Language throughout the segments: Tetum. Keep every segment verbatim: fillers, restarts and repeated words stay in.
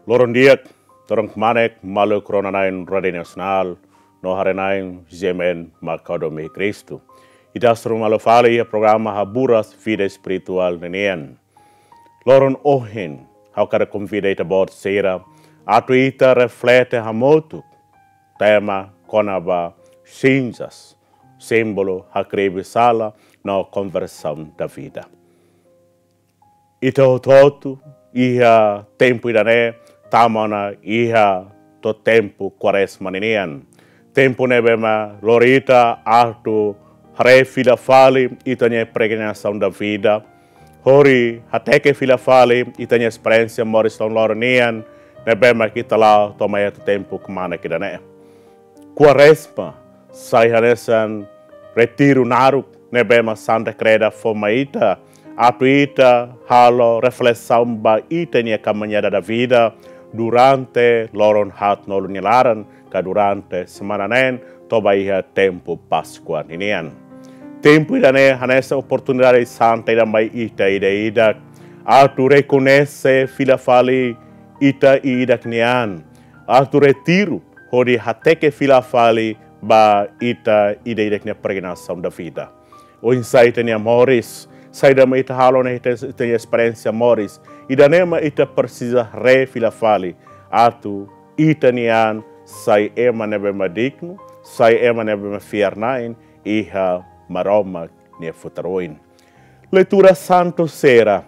Loron di'ak, loron kmanek, maluk rona-na'in Rádiu Nasionál, no haree-na'in G M N mak ha'u domin iha Kristu. Ita hasoru malu fali iha programa Haburas Vida Espirituál ninian. Loron ohin, ha'u hakarak konvida ita-boot sira, atu ita reflete hamutuk tema kona-ba sinzas, símbolu hakribi sala no konversaun da vida. Ita hotu-hotu iha tempu ida-ne'e tama ona iha to'o tempu Kuarezma ninian. Tempu ne'ebé mak lori ita atu haree fila fali ita-nia peregrinasaun da vida, hodi hateke fila fali ita-nia esperiénsia moris loron-loron nian, ne'ebé mak ita la'o to'o mai iha to'o tempu kmanek ida-ne'e. Kuarezma sai hanesan retiru naruk ne'ebé mak Santa Kreda fó mai ita, atu ita halo reflesaun ba ita-nia kamiñada da vida durante loron haatnulu nia laran, ka durante semana neen, to'o ba iha tempu Páskua ninian. Tempu ida-ne'e hanesan oportunidade santa ida mai ita ida-idak, atu rekoñese fila fali ita ida-idak nian, atu retiru hodi hateke fila fali ba ita ida-idak nia peregrinasaun da vida. Oinsá ita-nia moris, saida mak ita halo ona iha ita, ita-nia esperiénsia moris, ida-ne'e mak ita presiza haree fila fali, atu ita-nian sai ema ne'ebé mak dignu, sai ema ne'ebé mak fiar-na'in iha Maromak nia futar oin. Leitura santu sira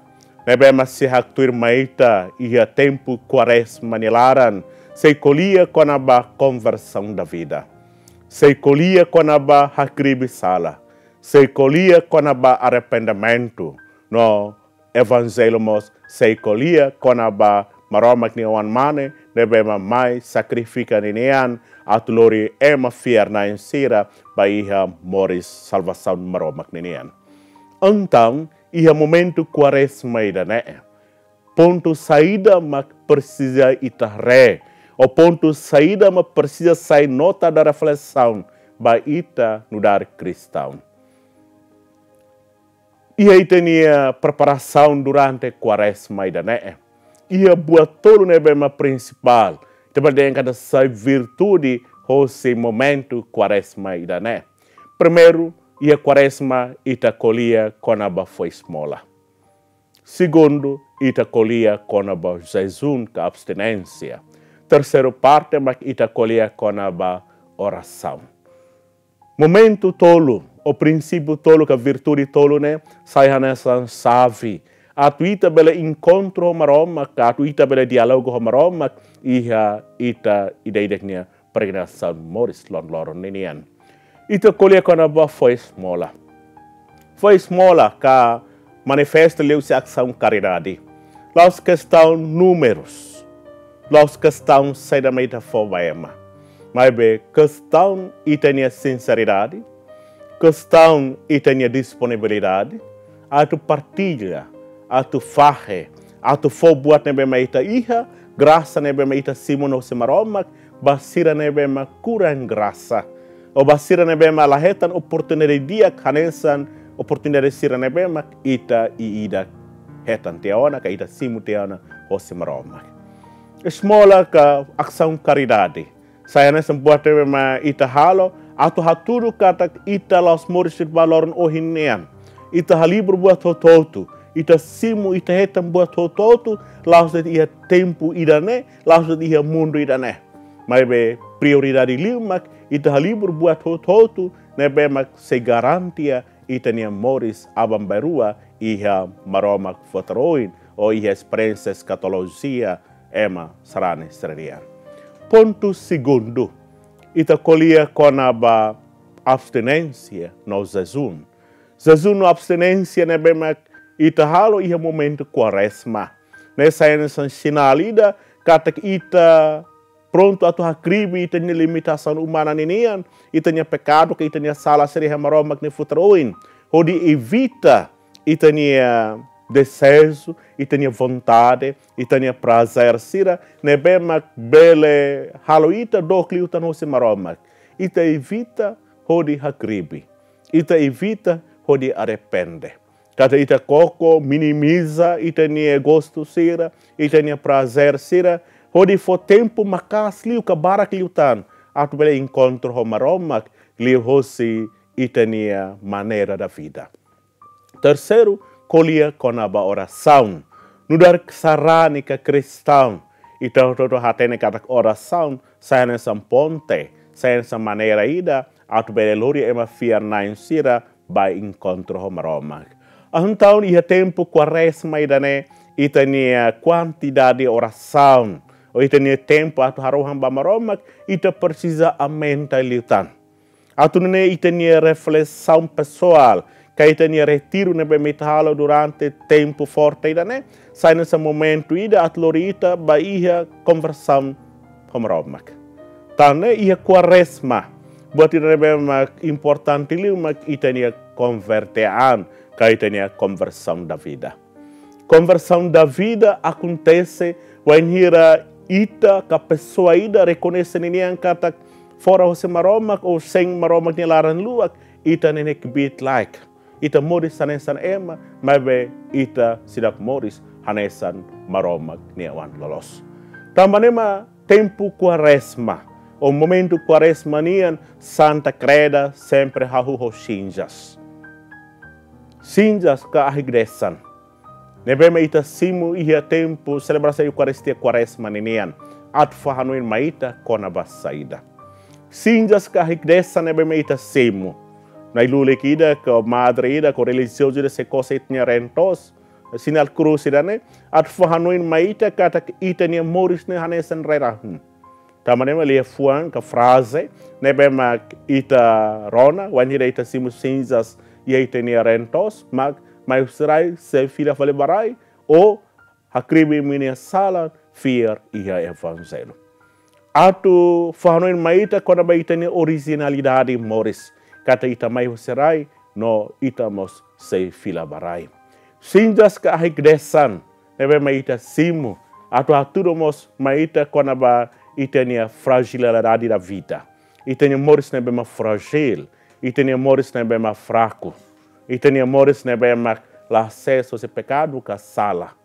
ne'ebé mak sei haktuir mai ita iha tempu Kuarezma nia laran, sei ko'alia kona-ba konversaun da vida. Sei ko'alia kona-ba hakribi sala. Sei ko'alia kona-ba arrependimentu. No Evanjellu mós sei ko'alia kona-ba Maromak nia Oan-Mane ne'ebé mak mai sakrifika ninian atu lori ema fiar-na'in sira ba iha moris salvasaun Maromak ninian. Entaun, iha momentu Kuarezma ida-ne'e, pontu saida mak presiza ita haree, ou pontu saida mak presiza sai nota da reflesaun ba ita nu'udar kristaun? Iha ita-nia preparasaun durante Kuarezma ida-ne'e, iha buat tolu ne'ebé mak prinsipál, ita bele dehan katak sai virtude hosi momentu Kuarezma ida-ne'e. Primeiru, iha Kuarezma ita ko'alia kona-ba fó esmola. Segundu, ita ko'alia kona-ba jejún ka abstinénsia. Terseiru parte mak ita ko'alia kona-ba orasaun. Momentu tolu, ou prinsípiu tolu ka virtude tolu ne'e, sai hanesan xave atu ita bele enkontru ho Maromak, ka atu ita bele diálogu ho Maromak iha ita ida-idak nia peregrinasaun moris loron-loron ninian. Ita ko'alia kona-ba fó esmola. Fó esmola ka manifesta liuhusi asaun karidade. La'ós kestaun númerus. La'ós kestaun saida mak ita fó ba ema. Maibé kestaun ita-nia sinseridade, kestaun ita-nia disponibilidade atu partilla, atu fahe, atu fó buat ne'ebé mak ita iha, grasa ne'ebé mak ita simu ona hosi Maromak, ba sira ne'ebé mak kurang grasa, ou ba sira ne'ebé mak la hetan oportunidade di'ak hanesan oportunidade sira ne'ebé mak ita ida-idak hetan tiha ona ka ita simu tiha ona hosi Maromak. Esmola ka asaun karidade sai hanesan buat ne'ebé mak ita halo atu hatudu katak ita la'ós moris de'it ba loron ohin nian. Ita halibur buat hotu-hotu, ita simu, ita hetan buat hotu-hotu, la'ós de'it iha tempu ida-ne'e, la'ós de'it iha mundu ida-ne'e. Maibé prioridade liu mak ita halibur buat hotu-hotu ne'ebé mak sei garantia ita-nia moris aban-bainrua iha Maromak futar oin, ou iha esperiénsia eskatolojia ema sarani sira-nian. Pontu segundu, ita ko'alia kona-ba abstinénsia no jejún. Jejún no abstinénsia ne'ebé mak ita halo iha momentu Kuarezma ne'e sai hanesan sinál ida katak ita prontu atu hakribi ita-nia limitasaun umana ninian, ita-nia pekadu ka ita-nia sala sira iha Maromak nia futar oin, hodi evita ita-nia dezeju, ita-nia vontade, ita-nia prazer sira ne'ebé mak bele halo ita dook liután hosi Maromak. Ita evita hodi hakribi. Ita evita hodi arrepende. Katak ita koko, minimiza ita-nia gostu sira, ita-nia prazer sira, Hodi fó tempu maka'as liu ka barak liután atu bele enkontru ho Maromak liuhosi ita-nia maneira de vida. Terseiru, ko'alia kona-ba orasaun. Nu'udar sarani ka kristaun, ita hotu-hotu hatene katak orasaun sai hanesan ponte, sai hanesan maneira ida atu bele lori ema fiar-na'in sira ba enkontru ho Maromak. Entaun iha tempu Kuarezma ida-ne'e, ita-nia kuantidade orasaun, ou ita-nia tempu atu harohan ba Maromak, ita presiza aumenta liután. Atu nune'e ita-nia reflesaun pesoál, ka ita-nia retiru ne'ebé mak ita halo durante tempu forte ida-ne'e, sai hanesan momentu ida atu lori ita ba iha konversaun ho Maromak. Tan ne'e iha Kuarezma, buat ida ne'ebé mak importante liu mak ita-nia konverte an, ka ita-nia konversaun da vida. Konversaun da vida akontese wainhira ita ka pesoa ida rekoñese ninian katak fora hosi Maromak ou sein Maromak nia laran-luak, ita ne'e kbiit-laek. Ita moris hanesan ema, maibé ita seidauk moris hanesan Maromak nia oan loloos. Tanba ne'e mak tempu Kuarezma, ou momentu Kuarezma nian, Santa Kreda sempre hahú ho sinzas. Sinzas ka ahi-desan ne'ebé mak ita simu iha tempu selebrasaun Eukaristia Kuarezma ninian, atu fó hanoin mai ita kona-ba saida. Sinzas ka ahi-desan ne'ebé mak ita simu. Na'i-lulik ida ka madre ida ka relijiozu ida sei ko'alia ita-nia reen-toos, sinál krús ida-ne'e, atu fó hanoin mai ita katak ita-nia moris ne'e hanesan rai-rahun. Tanba ne'e mak liafuan ka fraze ne'ebé mak ita rona wainhira ita simu sinzas iha ita-nia reen-toos, mak mai husi rai, sei fila fali ba rai, ou hakribi imi-nia sala, fiar iha Evanjellu. Atu fó hanoin mai ita kona-ba ita-nia orijinalidade moris, katak ita mai husi rai, no ita mós sei fila ba rai. Sinzas ka ahi-desan ne'ebé mak ita simu, atu hatudu mós mai ita kona-ba ita-nia frajilidade da vida. Ita-nia moris ne'ebé mak frajil, ita-nia moris ne'ebé mak fraku, ita-nia moris ne'ebé mak la asesu husi pekadu ka sala.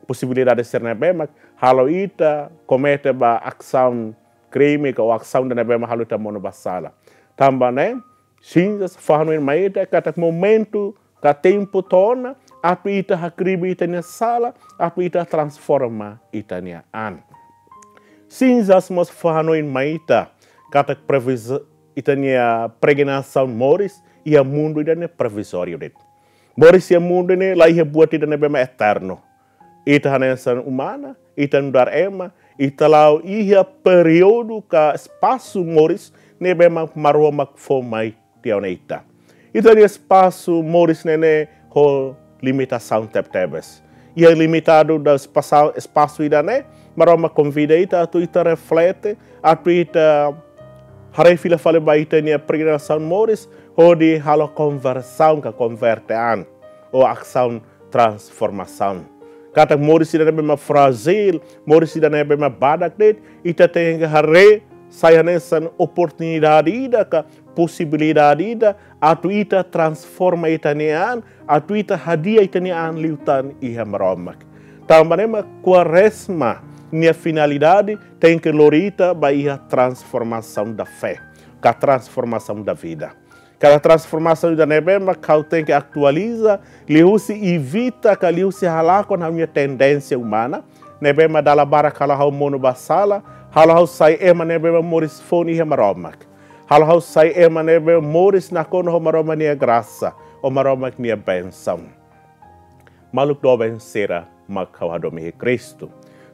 Posibilidade sira ne'ebé mak halo ita komete ba asaun krime ka asaun ida ne'ebé mak halo ita monu ba sala. Tanba ne'e, sinzas fó hanoin mai ita katak momentu ka tempu to'o ona atu ita hakribi ita-nia sala, atu ita transforma ita-nia an. Sinzas mós fó hanoin mai ita katak previz-, ita-nia pregnasaun moris iha mundu ida-ne'e provizóriu de'it. Moris iha mundu ne'e la iha buat ida ne'ebé mak eternu. Ita hanesan umanu, ita nu'udar ema, ita la'o iha períodu ka espasu moris ne'ebé mak Maromak fó mai tiha ona ita. Ita-nia espasu moris ne'e ne'e ho limitasaun tebetebes. Iha limitadu da espasa-, espasu ida-ne'e, Maromak konvida ita atu ita reflete, atu ita haree fila fali ba ita-nia pregnasaun moris, hodi halo konversaun ka konverte an, ou asaun transformasaun. Katak moris ida ne'ebé mak frajil, moris ida ne'ebé mak badak de'it, ita tenke haree sai hanesan oportunidade ida ka posibilidade ida atu ita transforma ita-nia an, atu ita hadi'a ita-nia an liután iha Maromak. Tanba ne'e mak Kuarezma nia finalidade tenke lori ita ba iha transformasaun da fé, ka transformasaun da vida. Kada transformasaun ida ne'ebé mak ha'u tenke atualiza, liuhusi evita ka liuhusi halakon ha'u-nia tendénsia umana, ne'ebé mak dala barak halo ha'u monu ba sala, halo ha'u sai ema ne'ebé mak moris foun iha Maromak. Halo ha'u sai ema ne'ebé moris nakonu ho Maromak nia grasa, ho Maromak nia bensaun. Maluk doben sira mak ha'u hadomi iha Kristu.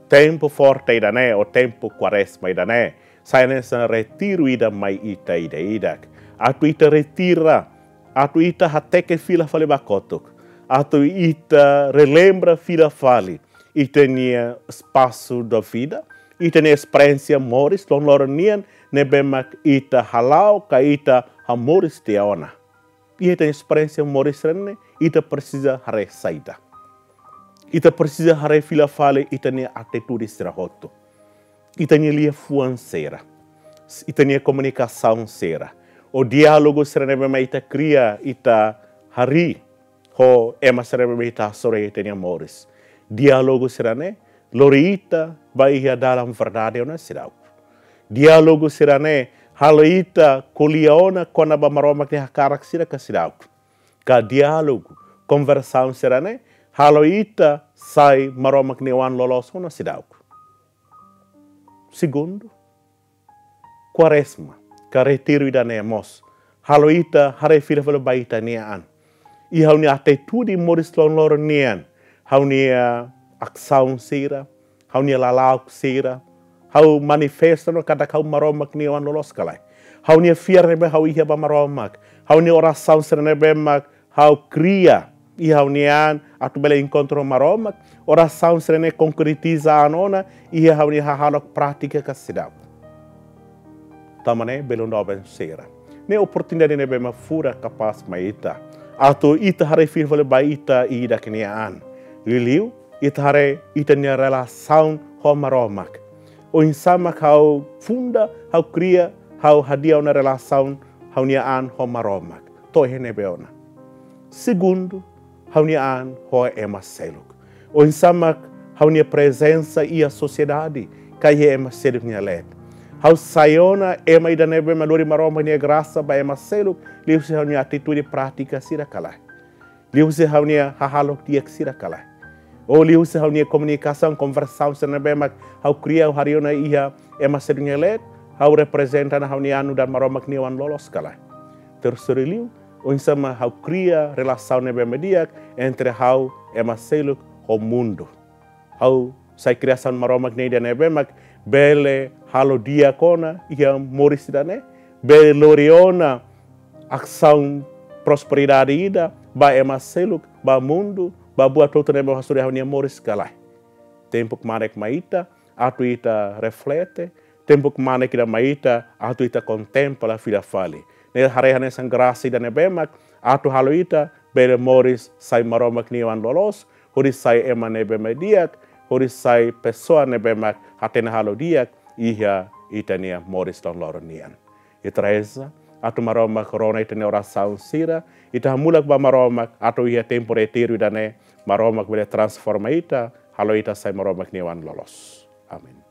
Tempu forte ida-ne'e, ou tempu Kuarezma ida-ne'e, sai hanesan retiru ida mai ita ida-idak. Atu ita retira, atu ita hateke fila fali ba kotuk. Atu ita relembra fila fali ita-nia espasu da vida, ita-nia esperiénsia moris loron-loron nian ne'ebé mak ita hala'o ka ita hamoris tiha ona. Iha ita-nia esperiénsia moris sira-ne'e, ita presiza haree saida. Ita presiza haree fila fali ita-nia atitude sira hotu. Ita-nia liafuan sira. Ita-nia komunikasaun sira. Ou diálogu sira ne'ebé mak ita kria, ita harii ho ema sira ne'ebé mak ita hasoru iha ita-nia moris. Diálogu sira-ne'e lori ita ba iha dalan verdade ona seidauk. Diálogu sira-ne'e halo ita ko'alia ona kona-ba Maromak nia hakarak sira ka seidauk. Ka diálogu, konversaun sira-ne'e halo ita sai Maromak nia oan loloos ona seidauk. Segundu, Kuarezma ka retiru ida-ne'e mós halo ita haree fila fali ba ita-nia an. Iha ha'u-nia atitude moris loron-loron nian, ha'u-nia asaun sira, ha'u-nia lala'ok sira, ha'u manifesta ona katak ha'u Maromak nia oan loloos ka lae. Ha'u-nia fiar ne'ebé ha'u iha ba Maromak, ha'u-nia orasaun sira ne'ebé mak ha'u kria iha ha'u-nia an atu bele enkontru Maromak, orasaun sira-ne'e konkretiza ona iha ha'u-nia hahalok prátika ka seidauk. Tanba ne'e belun doben sira, ne'e oportunidade ne'ebé mak furak kapás mai ita atu ita haree fila fali ba ita ida-idak nia an. Liuliu ita haree ita-nia relasaun ho Maromak. Oinsá mak ha'u funda, ha'u kria, ha'u hadi'a ona relasaun ha'u-nia an ho Maromak? To'o iha ne'ebé ona? Segundu, ha'u-nia an ho ema seluk. Oinsá mak ha'u-nia prezensa iha sosiedade ka iha ema seluk nia leet? Ha'u sai ona ema ida ne'ebé mak lori Maromak nia grasa ba ema seluk liuhusi ha'u-nia atitude, prátika sira ka lae? Liuhusi ha'u-nia hahalok di'ak sira ka lae? Ou liuhusi ha'u-nia komunikasaun, konversaun sira ne'ebé mak ha'u kria, ha'u harii ona iha ema seluk nia leet, ha'u reprezenta ona ha'u-nia an nu'udar Maromak nia oan loloos ka lae? Terseiru liu, oinsá mak ha'u kria relasaun ne'ebé mak di'ak entre ha'u, ema seluk ho mundu? Ha'u sai kriasaun Maromak nian ida ne'ebé mak bele halo di'ak ona iha moris ida-ne'e, bele lori ona asaun prosperidade ida ba ema seluk, ba mundu, ba buat hotu ne'ebé mak hasoru iha ha'u-nia moris ka lae? Tempu kmanek mai ita atu ita reflete, tempu kmanek ida mai ita atu ita kontempla fila fali. Ne'e haree hanesan grasa ida ne'ebé mak atu halo ita bele moris sai Maromak nia oan loloos, hodi sai ema ne'ebé mak di'ak, hodi sai pesoa ne'ebé mak hatene halo di'ak iha ita-nia moris loron-loron nian. Ita reza atu Maromak rona ita-nia orasaun sira, ita hamulak ba Maromak atu iha tempu retiru ida-ne'e Maromak bele transforma ita, halo ita sai Maromak nia oan loloos. Amen.